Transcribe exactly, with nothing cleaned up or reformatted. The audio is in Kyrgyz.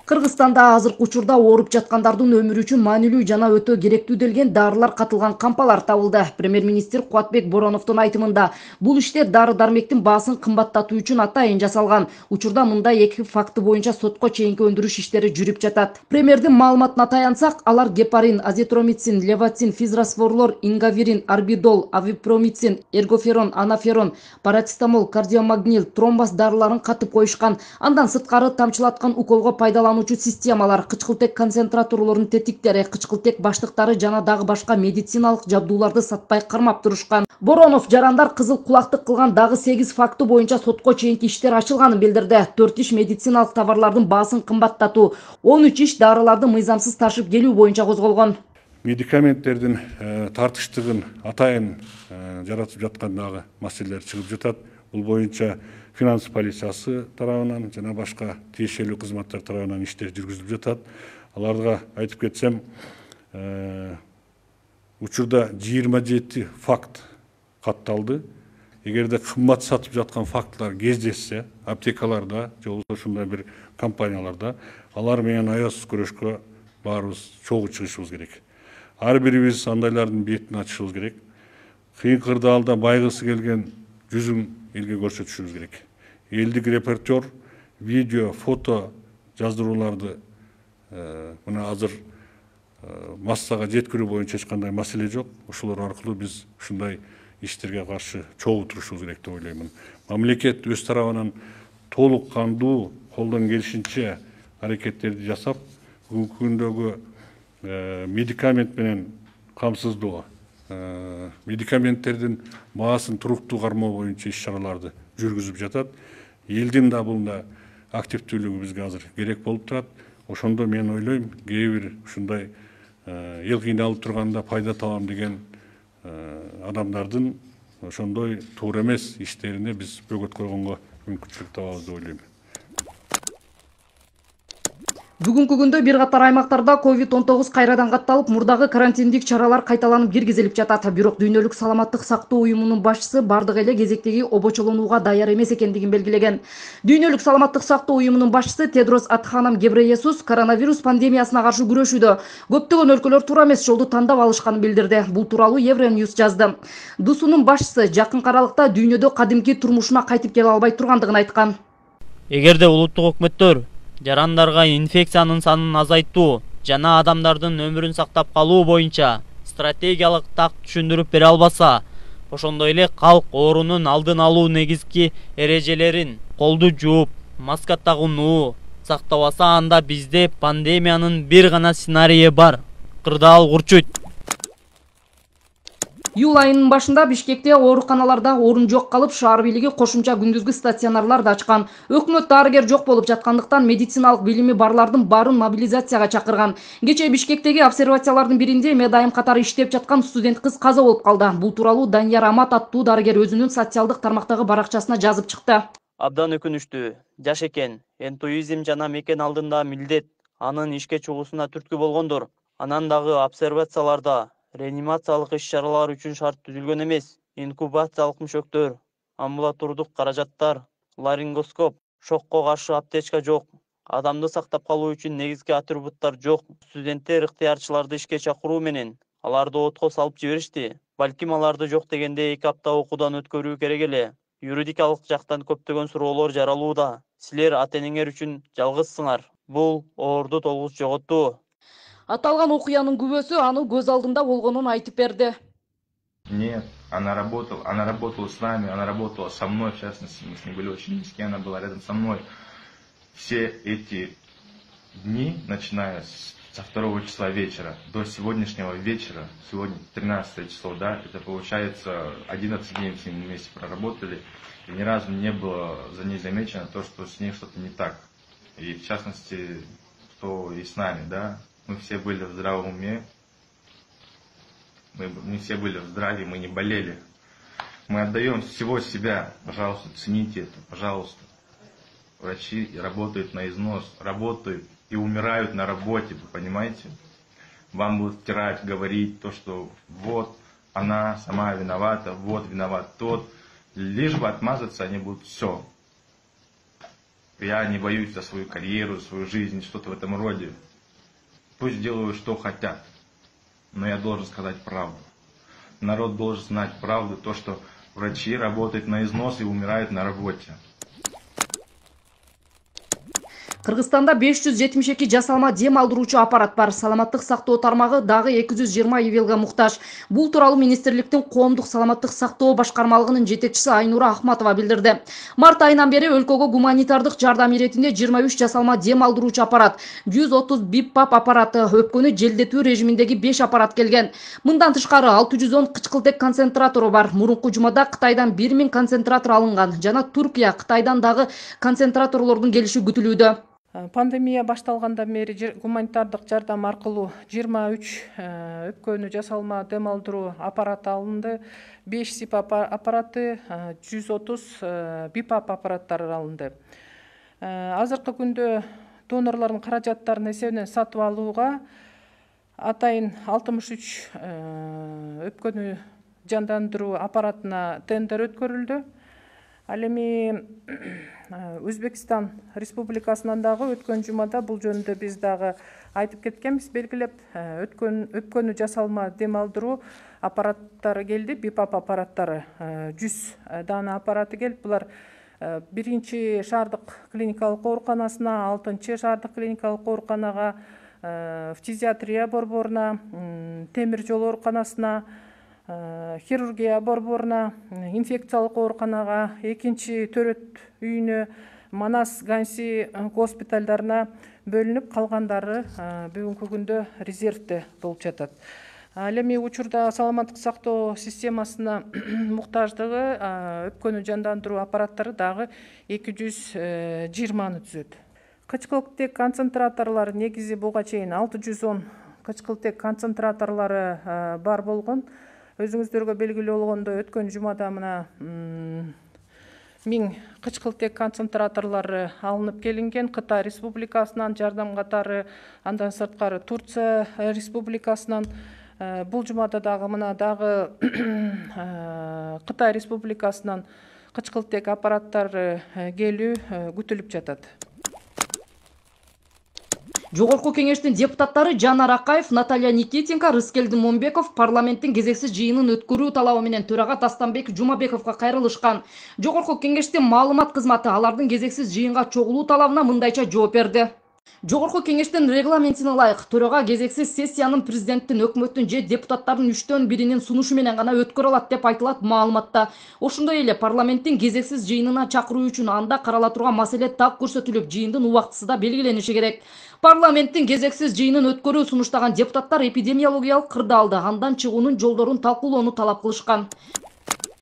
Кыргызстанда азыркы учурда ооруп жаткандардын өмүрү үчүн маанилүү жана өтө керектүү делген дарылар катылган кампалар табылды. Премьер-министр Кубатбек Бороновдун айтымында, бул иштер дары-дармектин баасын кымбаттатуу үчүн атайын жасалган. Учурда мындай эки факты боюнча сотко чейинки өндүрүш иштери жүрүп жатат. Премьердин маалыматына таянсак, алар гепарин, азитромицин, левацин, физрасворлор, ингавирин, арбидол, авипромицин, эргоферон, анаферон, парацетамол, кардиомагнил, тромбоз дарыларын катып коюшкан. Андан сырткары тамчылаткан уколго пайдалануу системалар, кычкылтек концентраторлордун тетиктери, кычкылтек баштыктары жана дагы башка медициналык жабдууларды сатпай кармап турушкан. Боронов жарандар кызыл кулактык кылган дагы сегиз факты боюнча сотко чейинки иштер ачылганын билдирди. төрт иш медициналык товарлардын баасын кымбаттатуу, он үч иш дарыларды мыйзамсыз ташып келүү боюнча козголгон. Медикаменттердин тартыштыгын атайын жаратып жаткан дагы маселелер чыгып жатат. Бул боюнча финанс полициясы тарабынан жана башка тиешелүү кызматтар тарабынан иштер жүргүзүлүп жатат. Аларга айтып кетсем, учурда жыйырма жети факт катталды. Эгерде кымбат сатып жаткан фактлар кездешсе, аптекаларда же болбосо ушундай бир компанияларда, алар менен аясыз күрөшкө баарыбыз чогуу чыгышыбыз керек. Ар бирибиз андайлардын бетин ачышыбыз керек. Кыйын кырдаалда байгысы келген жүзүн элге көрсөтүшүбүз керек. Элдик репортер, видео, фото жаздырууларды мына азыр массага жеткирүү боюнча эч кандай маселе жок. Ошолор аркылуу биз ушундай иштерге каршы чогуу турушубуз керек деп ойлоймун. Мамлекет өз тарабынан толук кандуу колдон келишинче аракеттерди жасап, бүгүнкү күндөгү медикамент менен камсыздоо, медикаменттердин баасын туруктуу кармоо боюнча иш-чараларды жүргүзүп жатат. Элдин да бунда активдүүлүгү бизге азыр керек болуп турат. Ошондо мен ойлойм, кээ бир ушундай эл кыйналып турганда пайда табам деген адамдардын ошондой туура эмес иштерине биз бөгөт койгонго мүмкүнчүлүк табабыз деп ойлойм. Бүгүнкү күндө бир катар аймактарда ковид он тогуз кайрадан катталып, мурдагы карантиндик чаралар кайталанып киргизилип жатат. Бирок Дүйнөлүк саламаттык сактоо уюмунун башчысы бардык эле кезектеги обочолонууга даяр эмес экендигин белгилеген. Дүйнөлүк саламаттык сактоо уюмунун башчысы Тедрос Адханам Гебрейесус коронавирус пандемиясына каршы күрөшүүдө көптөгөн өлкөлөр туура эмес жолду тандап алышканын билдирди. Бул тууралуу Евроньюз жазды. ДУСунун башчысы жакын аралыкта дүйнөдө кадимки турмушуна кайтып келе албай тургандыгын айткан. Эгерде улуттук өкмөттөр жарандарга инфекциянын санын азайтуу жана адамдардын өмүрүн сактап калуу боюнча стратегиялык так түшүндүрүп бере албаса, ошондой эле калк оорунун алдын алуу негизги эрежелерин колду жууп, маска тагынуу сактабаса, анда бизде пандемиянын бир гана сценарийи бар. Кырдаал курчуйт. Июль айынын башында Бишкекте ооруканаларда орун жок калып, шаар бийлиги кошумча күндүзгү стационарларды ачкан. Өкмөт дарыгер жок болуп жаткандыктан медициналык билими барлардын баарын мобилизацияга чакырган. Кечээ Бишкектеги обсервациялардын биринде медайым катары иштеп жаткан студент кыз каза болуп калды. Бул тууралуу Данияр Амат аттуу дарыгер өзүнүн социалдык тармактагы баракчасына жазып чыкты. Абдан өкүнүчтүү. Жаш экен, энтуизм жана мекен алдында милдет анын ишке чыгуусуна түрткү болгондор. Анан дагы обсервацияларда реанимациялык иш-чаралар үчүн шарт түзүлгөн эмес. Инкубациялык мөшөктөр, амбулатордук каражаттар, ларингоскоп, шокко каршы аптечка жок. Адамды сактап калуу үчүн негизги атрибуттар жок. Студенттер ыктыярчыларды ишке чакыруу менен аларды отко салып жиберишти. Балким аларды жок дегенде эки апта окуудан өткөрүү керек эле. Юридикалык жактан көптөгөн суроолор жаралууда. Силер ата-энеңер үчүн жалгызсыңар. Бул оорду толгуз жоготтуу. Аталган окуянын күбөсү аны көз алдында болгонун айтып берди. Нет, она работала, она работала с нами, она работала со мной, в частности, мы с ней были очень близки, она была рядом со мной. Все эти дни, начиная со второго числа вечера до сегодняшнего вечера, сегодня тринадцатое число, да, это получается одиннадцать дней мы с ней вместе проработали, и ни разу не было за ней замечено то, что с ней что-то не так. И в частности, что и с нами, да. Мы все были в здравом уме, мы, мы все были в здравии, мы не болели. Мы отдаем всего себя, пожалуйста, цените это, пожалуйста. Врачи работают на износ, работают и умирают на работе, вы понимаете? Вам будут втирать, говорить то, что вот она сама виновата, вот виноват тот. Лишь бы отмазаться они будут все. Я не боюсь за свою карьеру, свою жизнь, что-то в этом роде. Пусть делают, что хотят. Но я должен сказать правду. Народ должен знать правду, то, что врачи работают на износ и умирают на работе. Кыргызстанда беш жүз жетимиш эки жасалма дем алдыруучу аппарат бар. Саламаттык сактоо тармагы дагы эки жүз жыйырма ивелге муктаж. Бул тууралуу министрликтин коомдук саламаттык сактоо башкармалыгынын жетекчиси Айнура Ахматова билдирди. Март айынан бери өлкөгө гуманитардык жардам иретинде жыйырма үч жасалма дем алдыруучу аппарат, жүз отуз бипап аппараты, өпкөнү желдетүү режиминдеги беш аппарат келген. Мындан тышкары алты жүз он кычкылтек концентратору бар. Мурунку жумада Кытайдан бир миң концентратор алынган жана Туркия, Кытайдан дагы концентраторлордун келиши күтүлүүдө. Пандемия башталгандан бери гуманитардык жардам аркылуу жыйырма үч өпкөнү жасалма дем алдыруу аппараты алынды, беш сипап аппараты, жүз отуз бипап аппараттары алынды. Азыркы күндө донорлордун каражаттарынын эсебинен сатып алууга атайын алтымыш үч өпкөнү жандандыруу аппаратына тендер өткөрүлдү. Ал эми Өзбекстан Республикасынан дагы өткөн жумада бул жөнүндө биз дагы айтып кеткенбиз, белгилеп, өткөн өпкөнү жасалма дем алдыруу аппараттары келди, бипап аппараттары жүз дана аппараты келип, булар биринчи шаардык клиникалык ооруканасына, алтынчы шаардык клиникалык ооруканага, фтизиатрия борборуна, темир жол ооруканасына, хирургия борборуна, инфекциялык ооруканага, экинчи төрөт үйүнө, Манас Ганси госпиталдарына бөлүнүп, калгандары бүгүнкү күндө резервде болуп жатат. Ал эми учурда саламаттык сактоо системасына муктаждыгы өпкөнү жандандыруу аппараттары дагы эки жүз жыйырманы түзөт. Кычкылтек концентраторлор негизи буга чейин алты жүз он кычкылтек концентраторлору бар болгон. Өзүңүздөргө белгилүү болгондой, өткөн жумада мына миң кычкылтек концентраторлору алынып келинген. Кытай Республикасынан жардам катары, андан сырткары Турция Республикасынан. Бул жумада дагы мына дагы Кытай Республикасынан кычкылтек аппараттары келүү күтүлүп жатат. Жогорку кеңештин депутаттары Жанар Акаев, Наталья Никитенко, Рыскелди Момбеков парламенттин кезексиз жыйынын өткөрүү талабы менен төрага Тастанбек Жумабековго кайрылышкан. Жогорку кеңештин маалымат кызматы алардын кезексиз жыйынга чогулуу талабына мындайча жооп берди. Жогорку кеңештин регламентине ылайык төрага кезексиз сессиянын президенттин, өкмөттүн же депутаттардын үчтөн биринин сунушу менен гана өткөрө алат деп айтылат маалыматта. Ошондой эле парламенттин кезексиз жыйынына чакыруу үчүн анда карала турган маселе так көрсөтүлүп, жыйындын убактысы да белгилениши керек. Парламенттин кезексиз жыйынын өткөрүү сунуштаган депутаттар эпидемиологиялык кырдаалды, андан чыгуунун жолдорун талкуулоону талап кылышкан.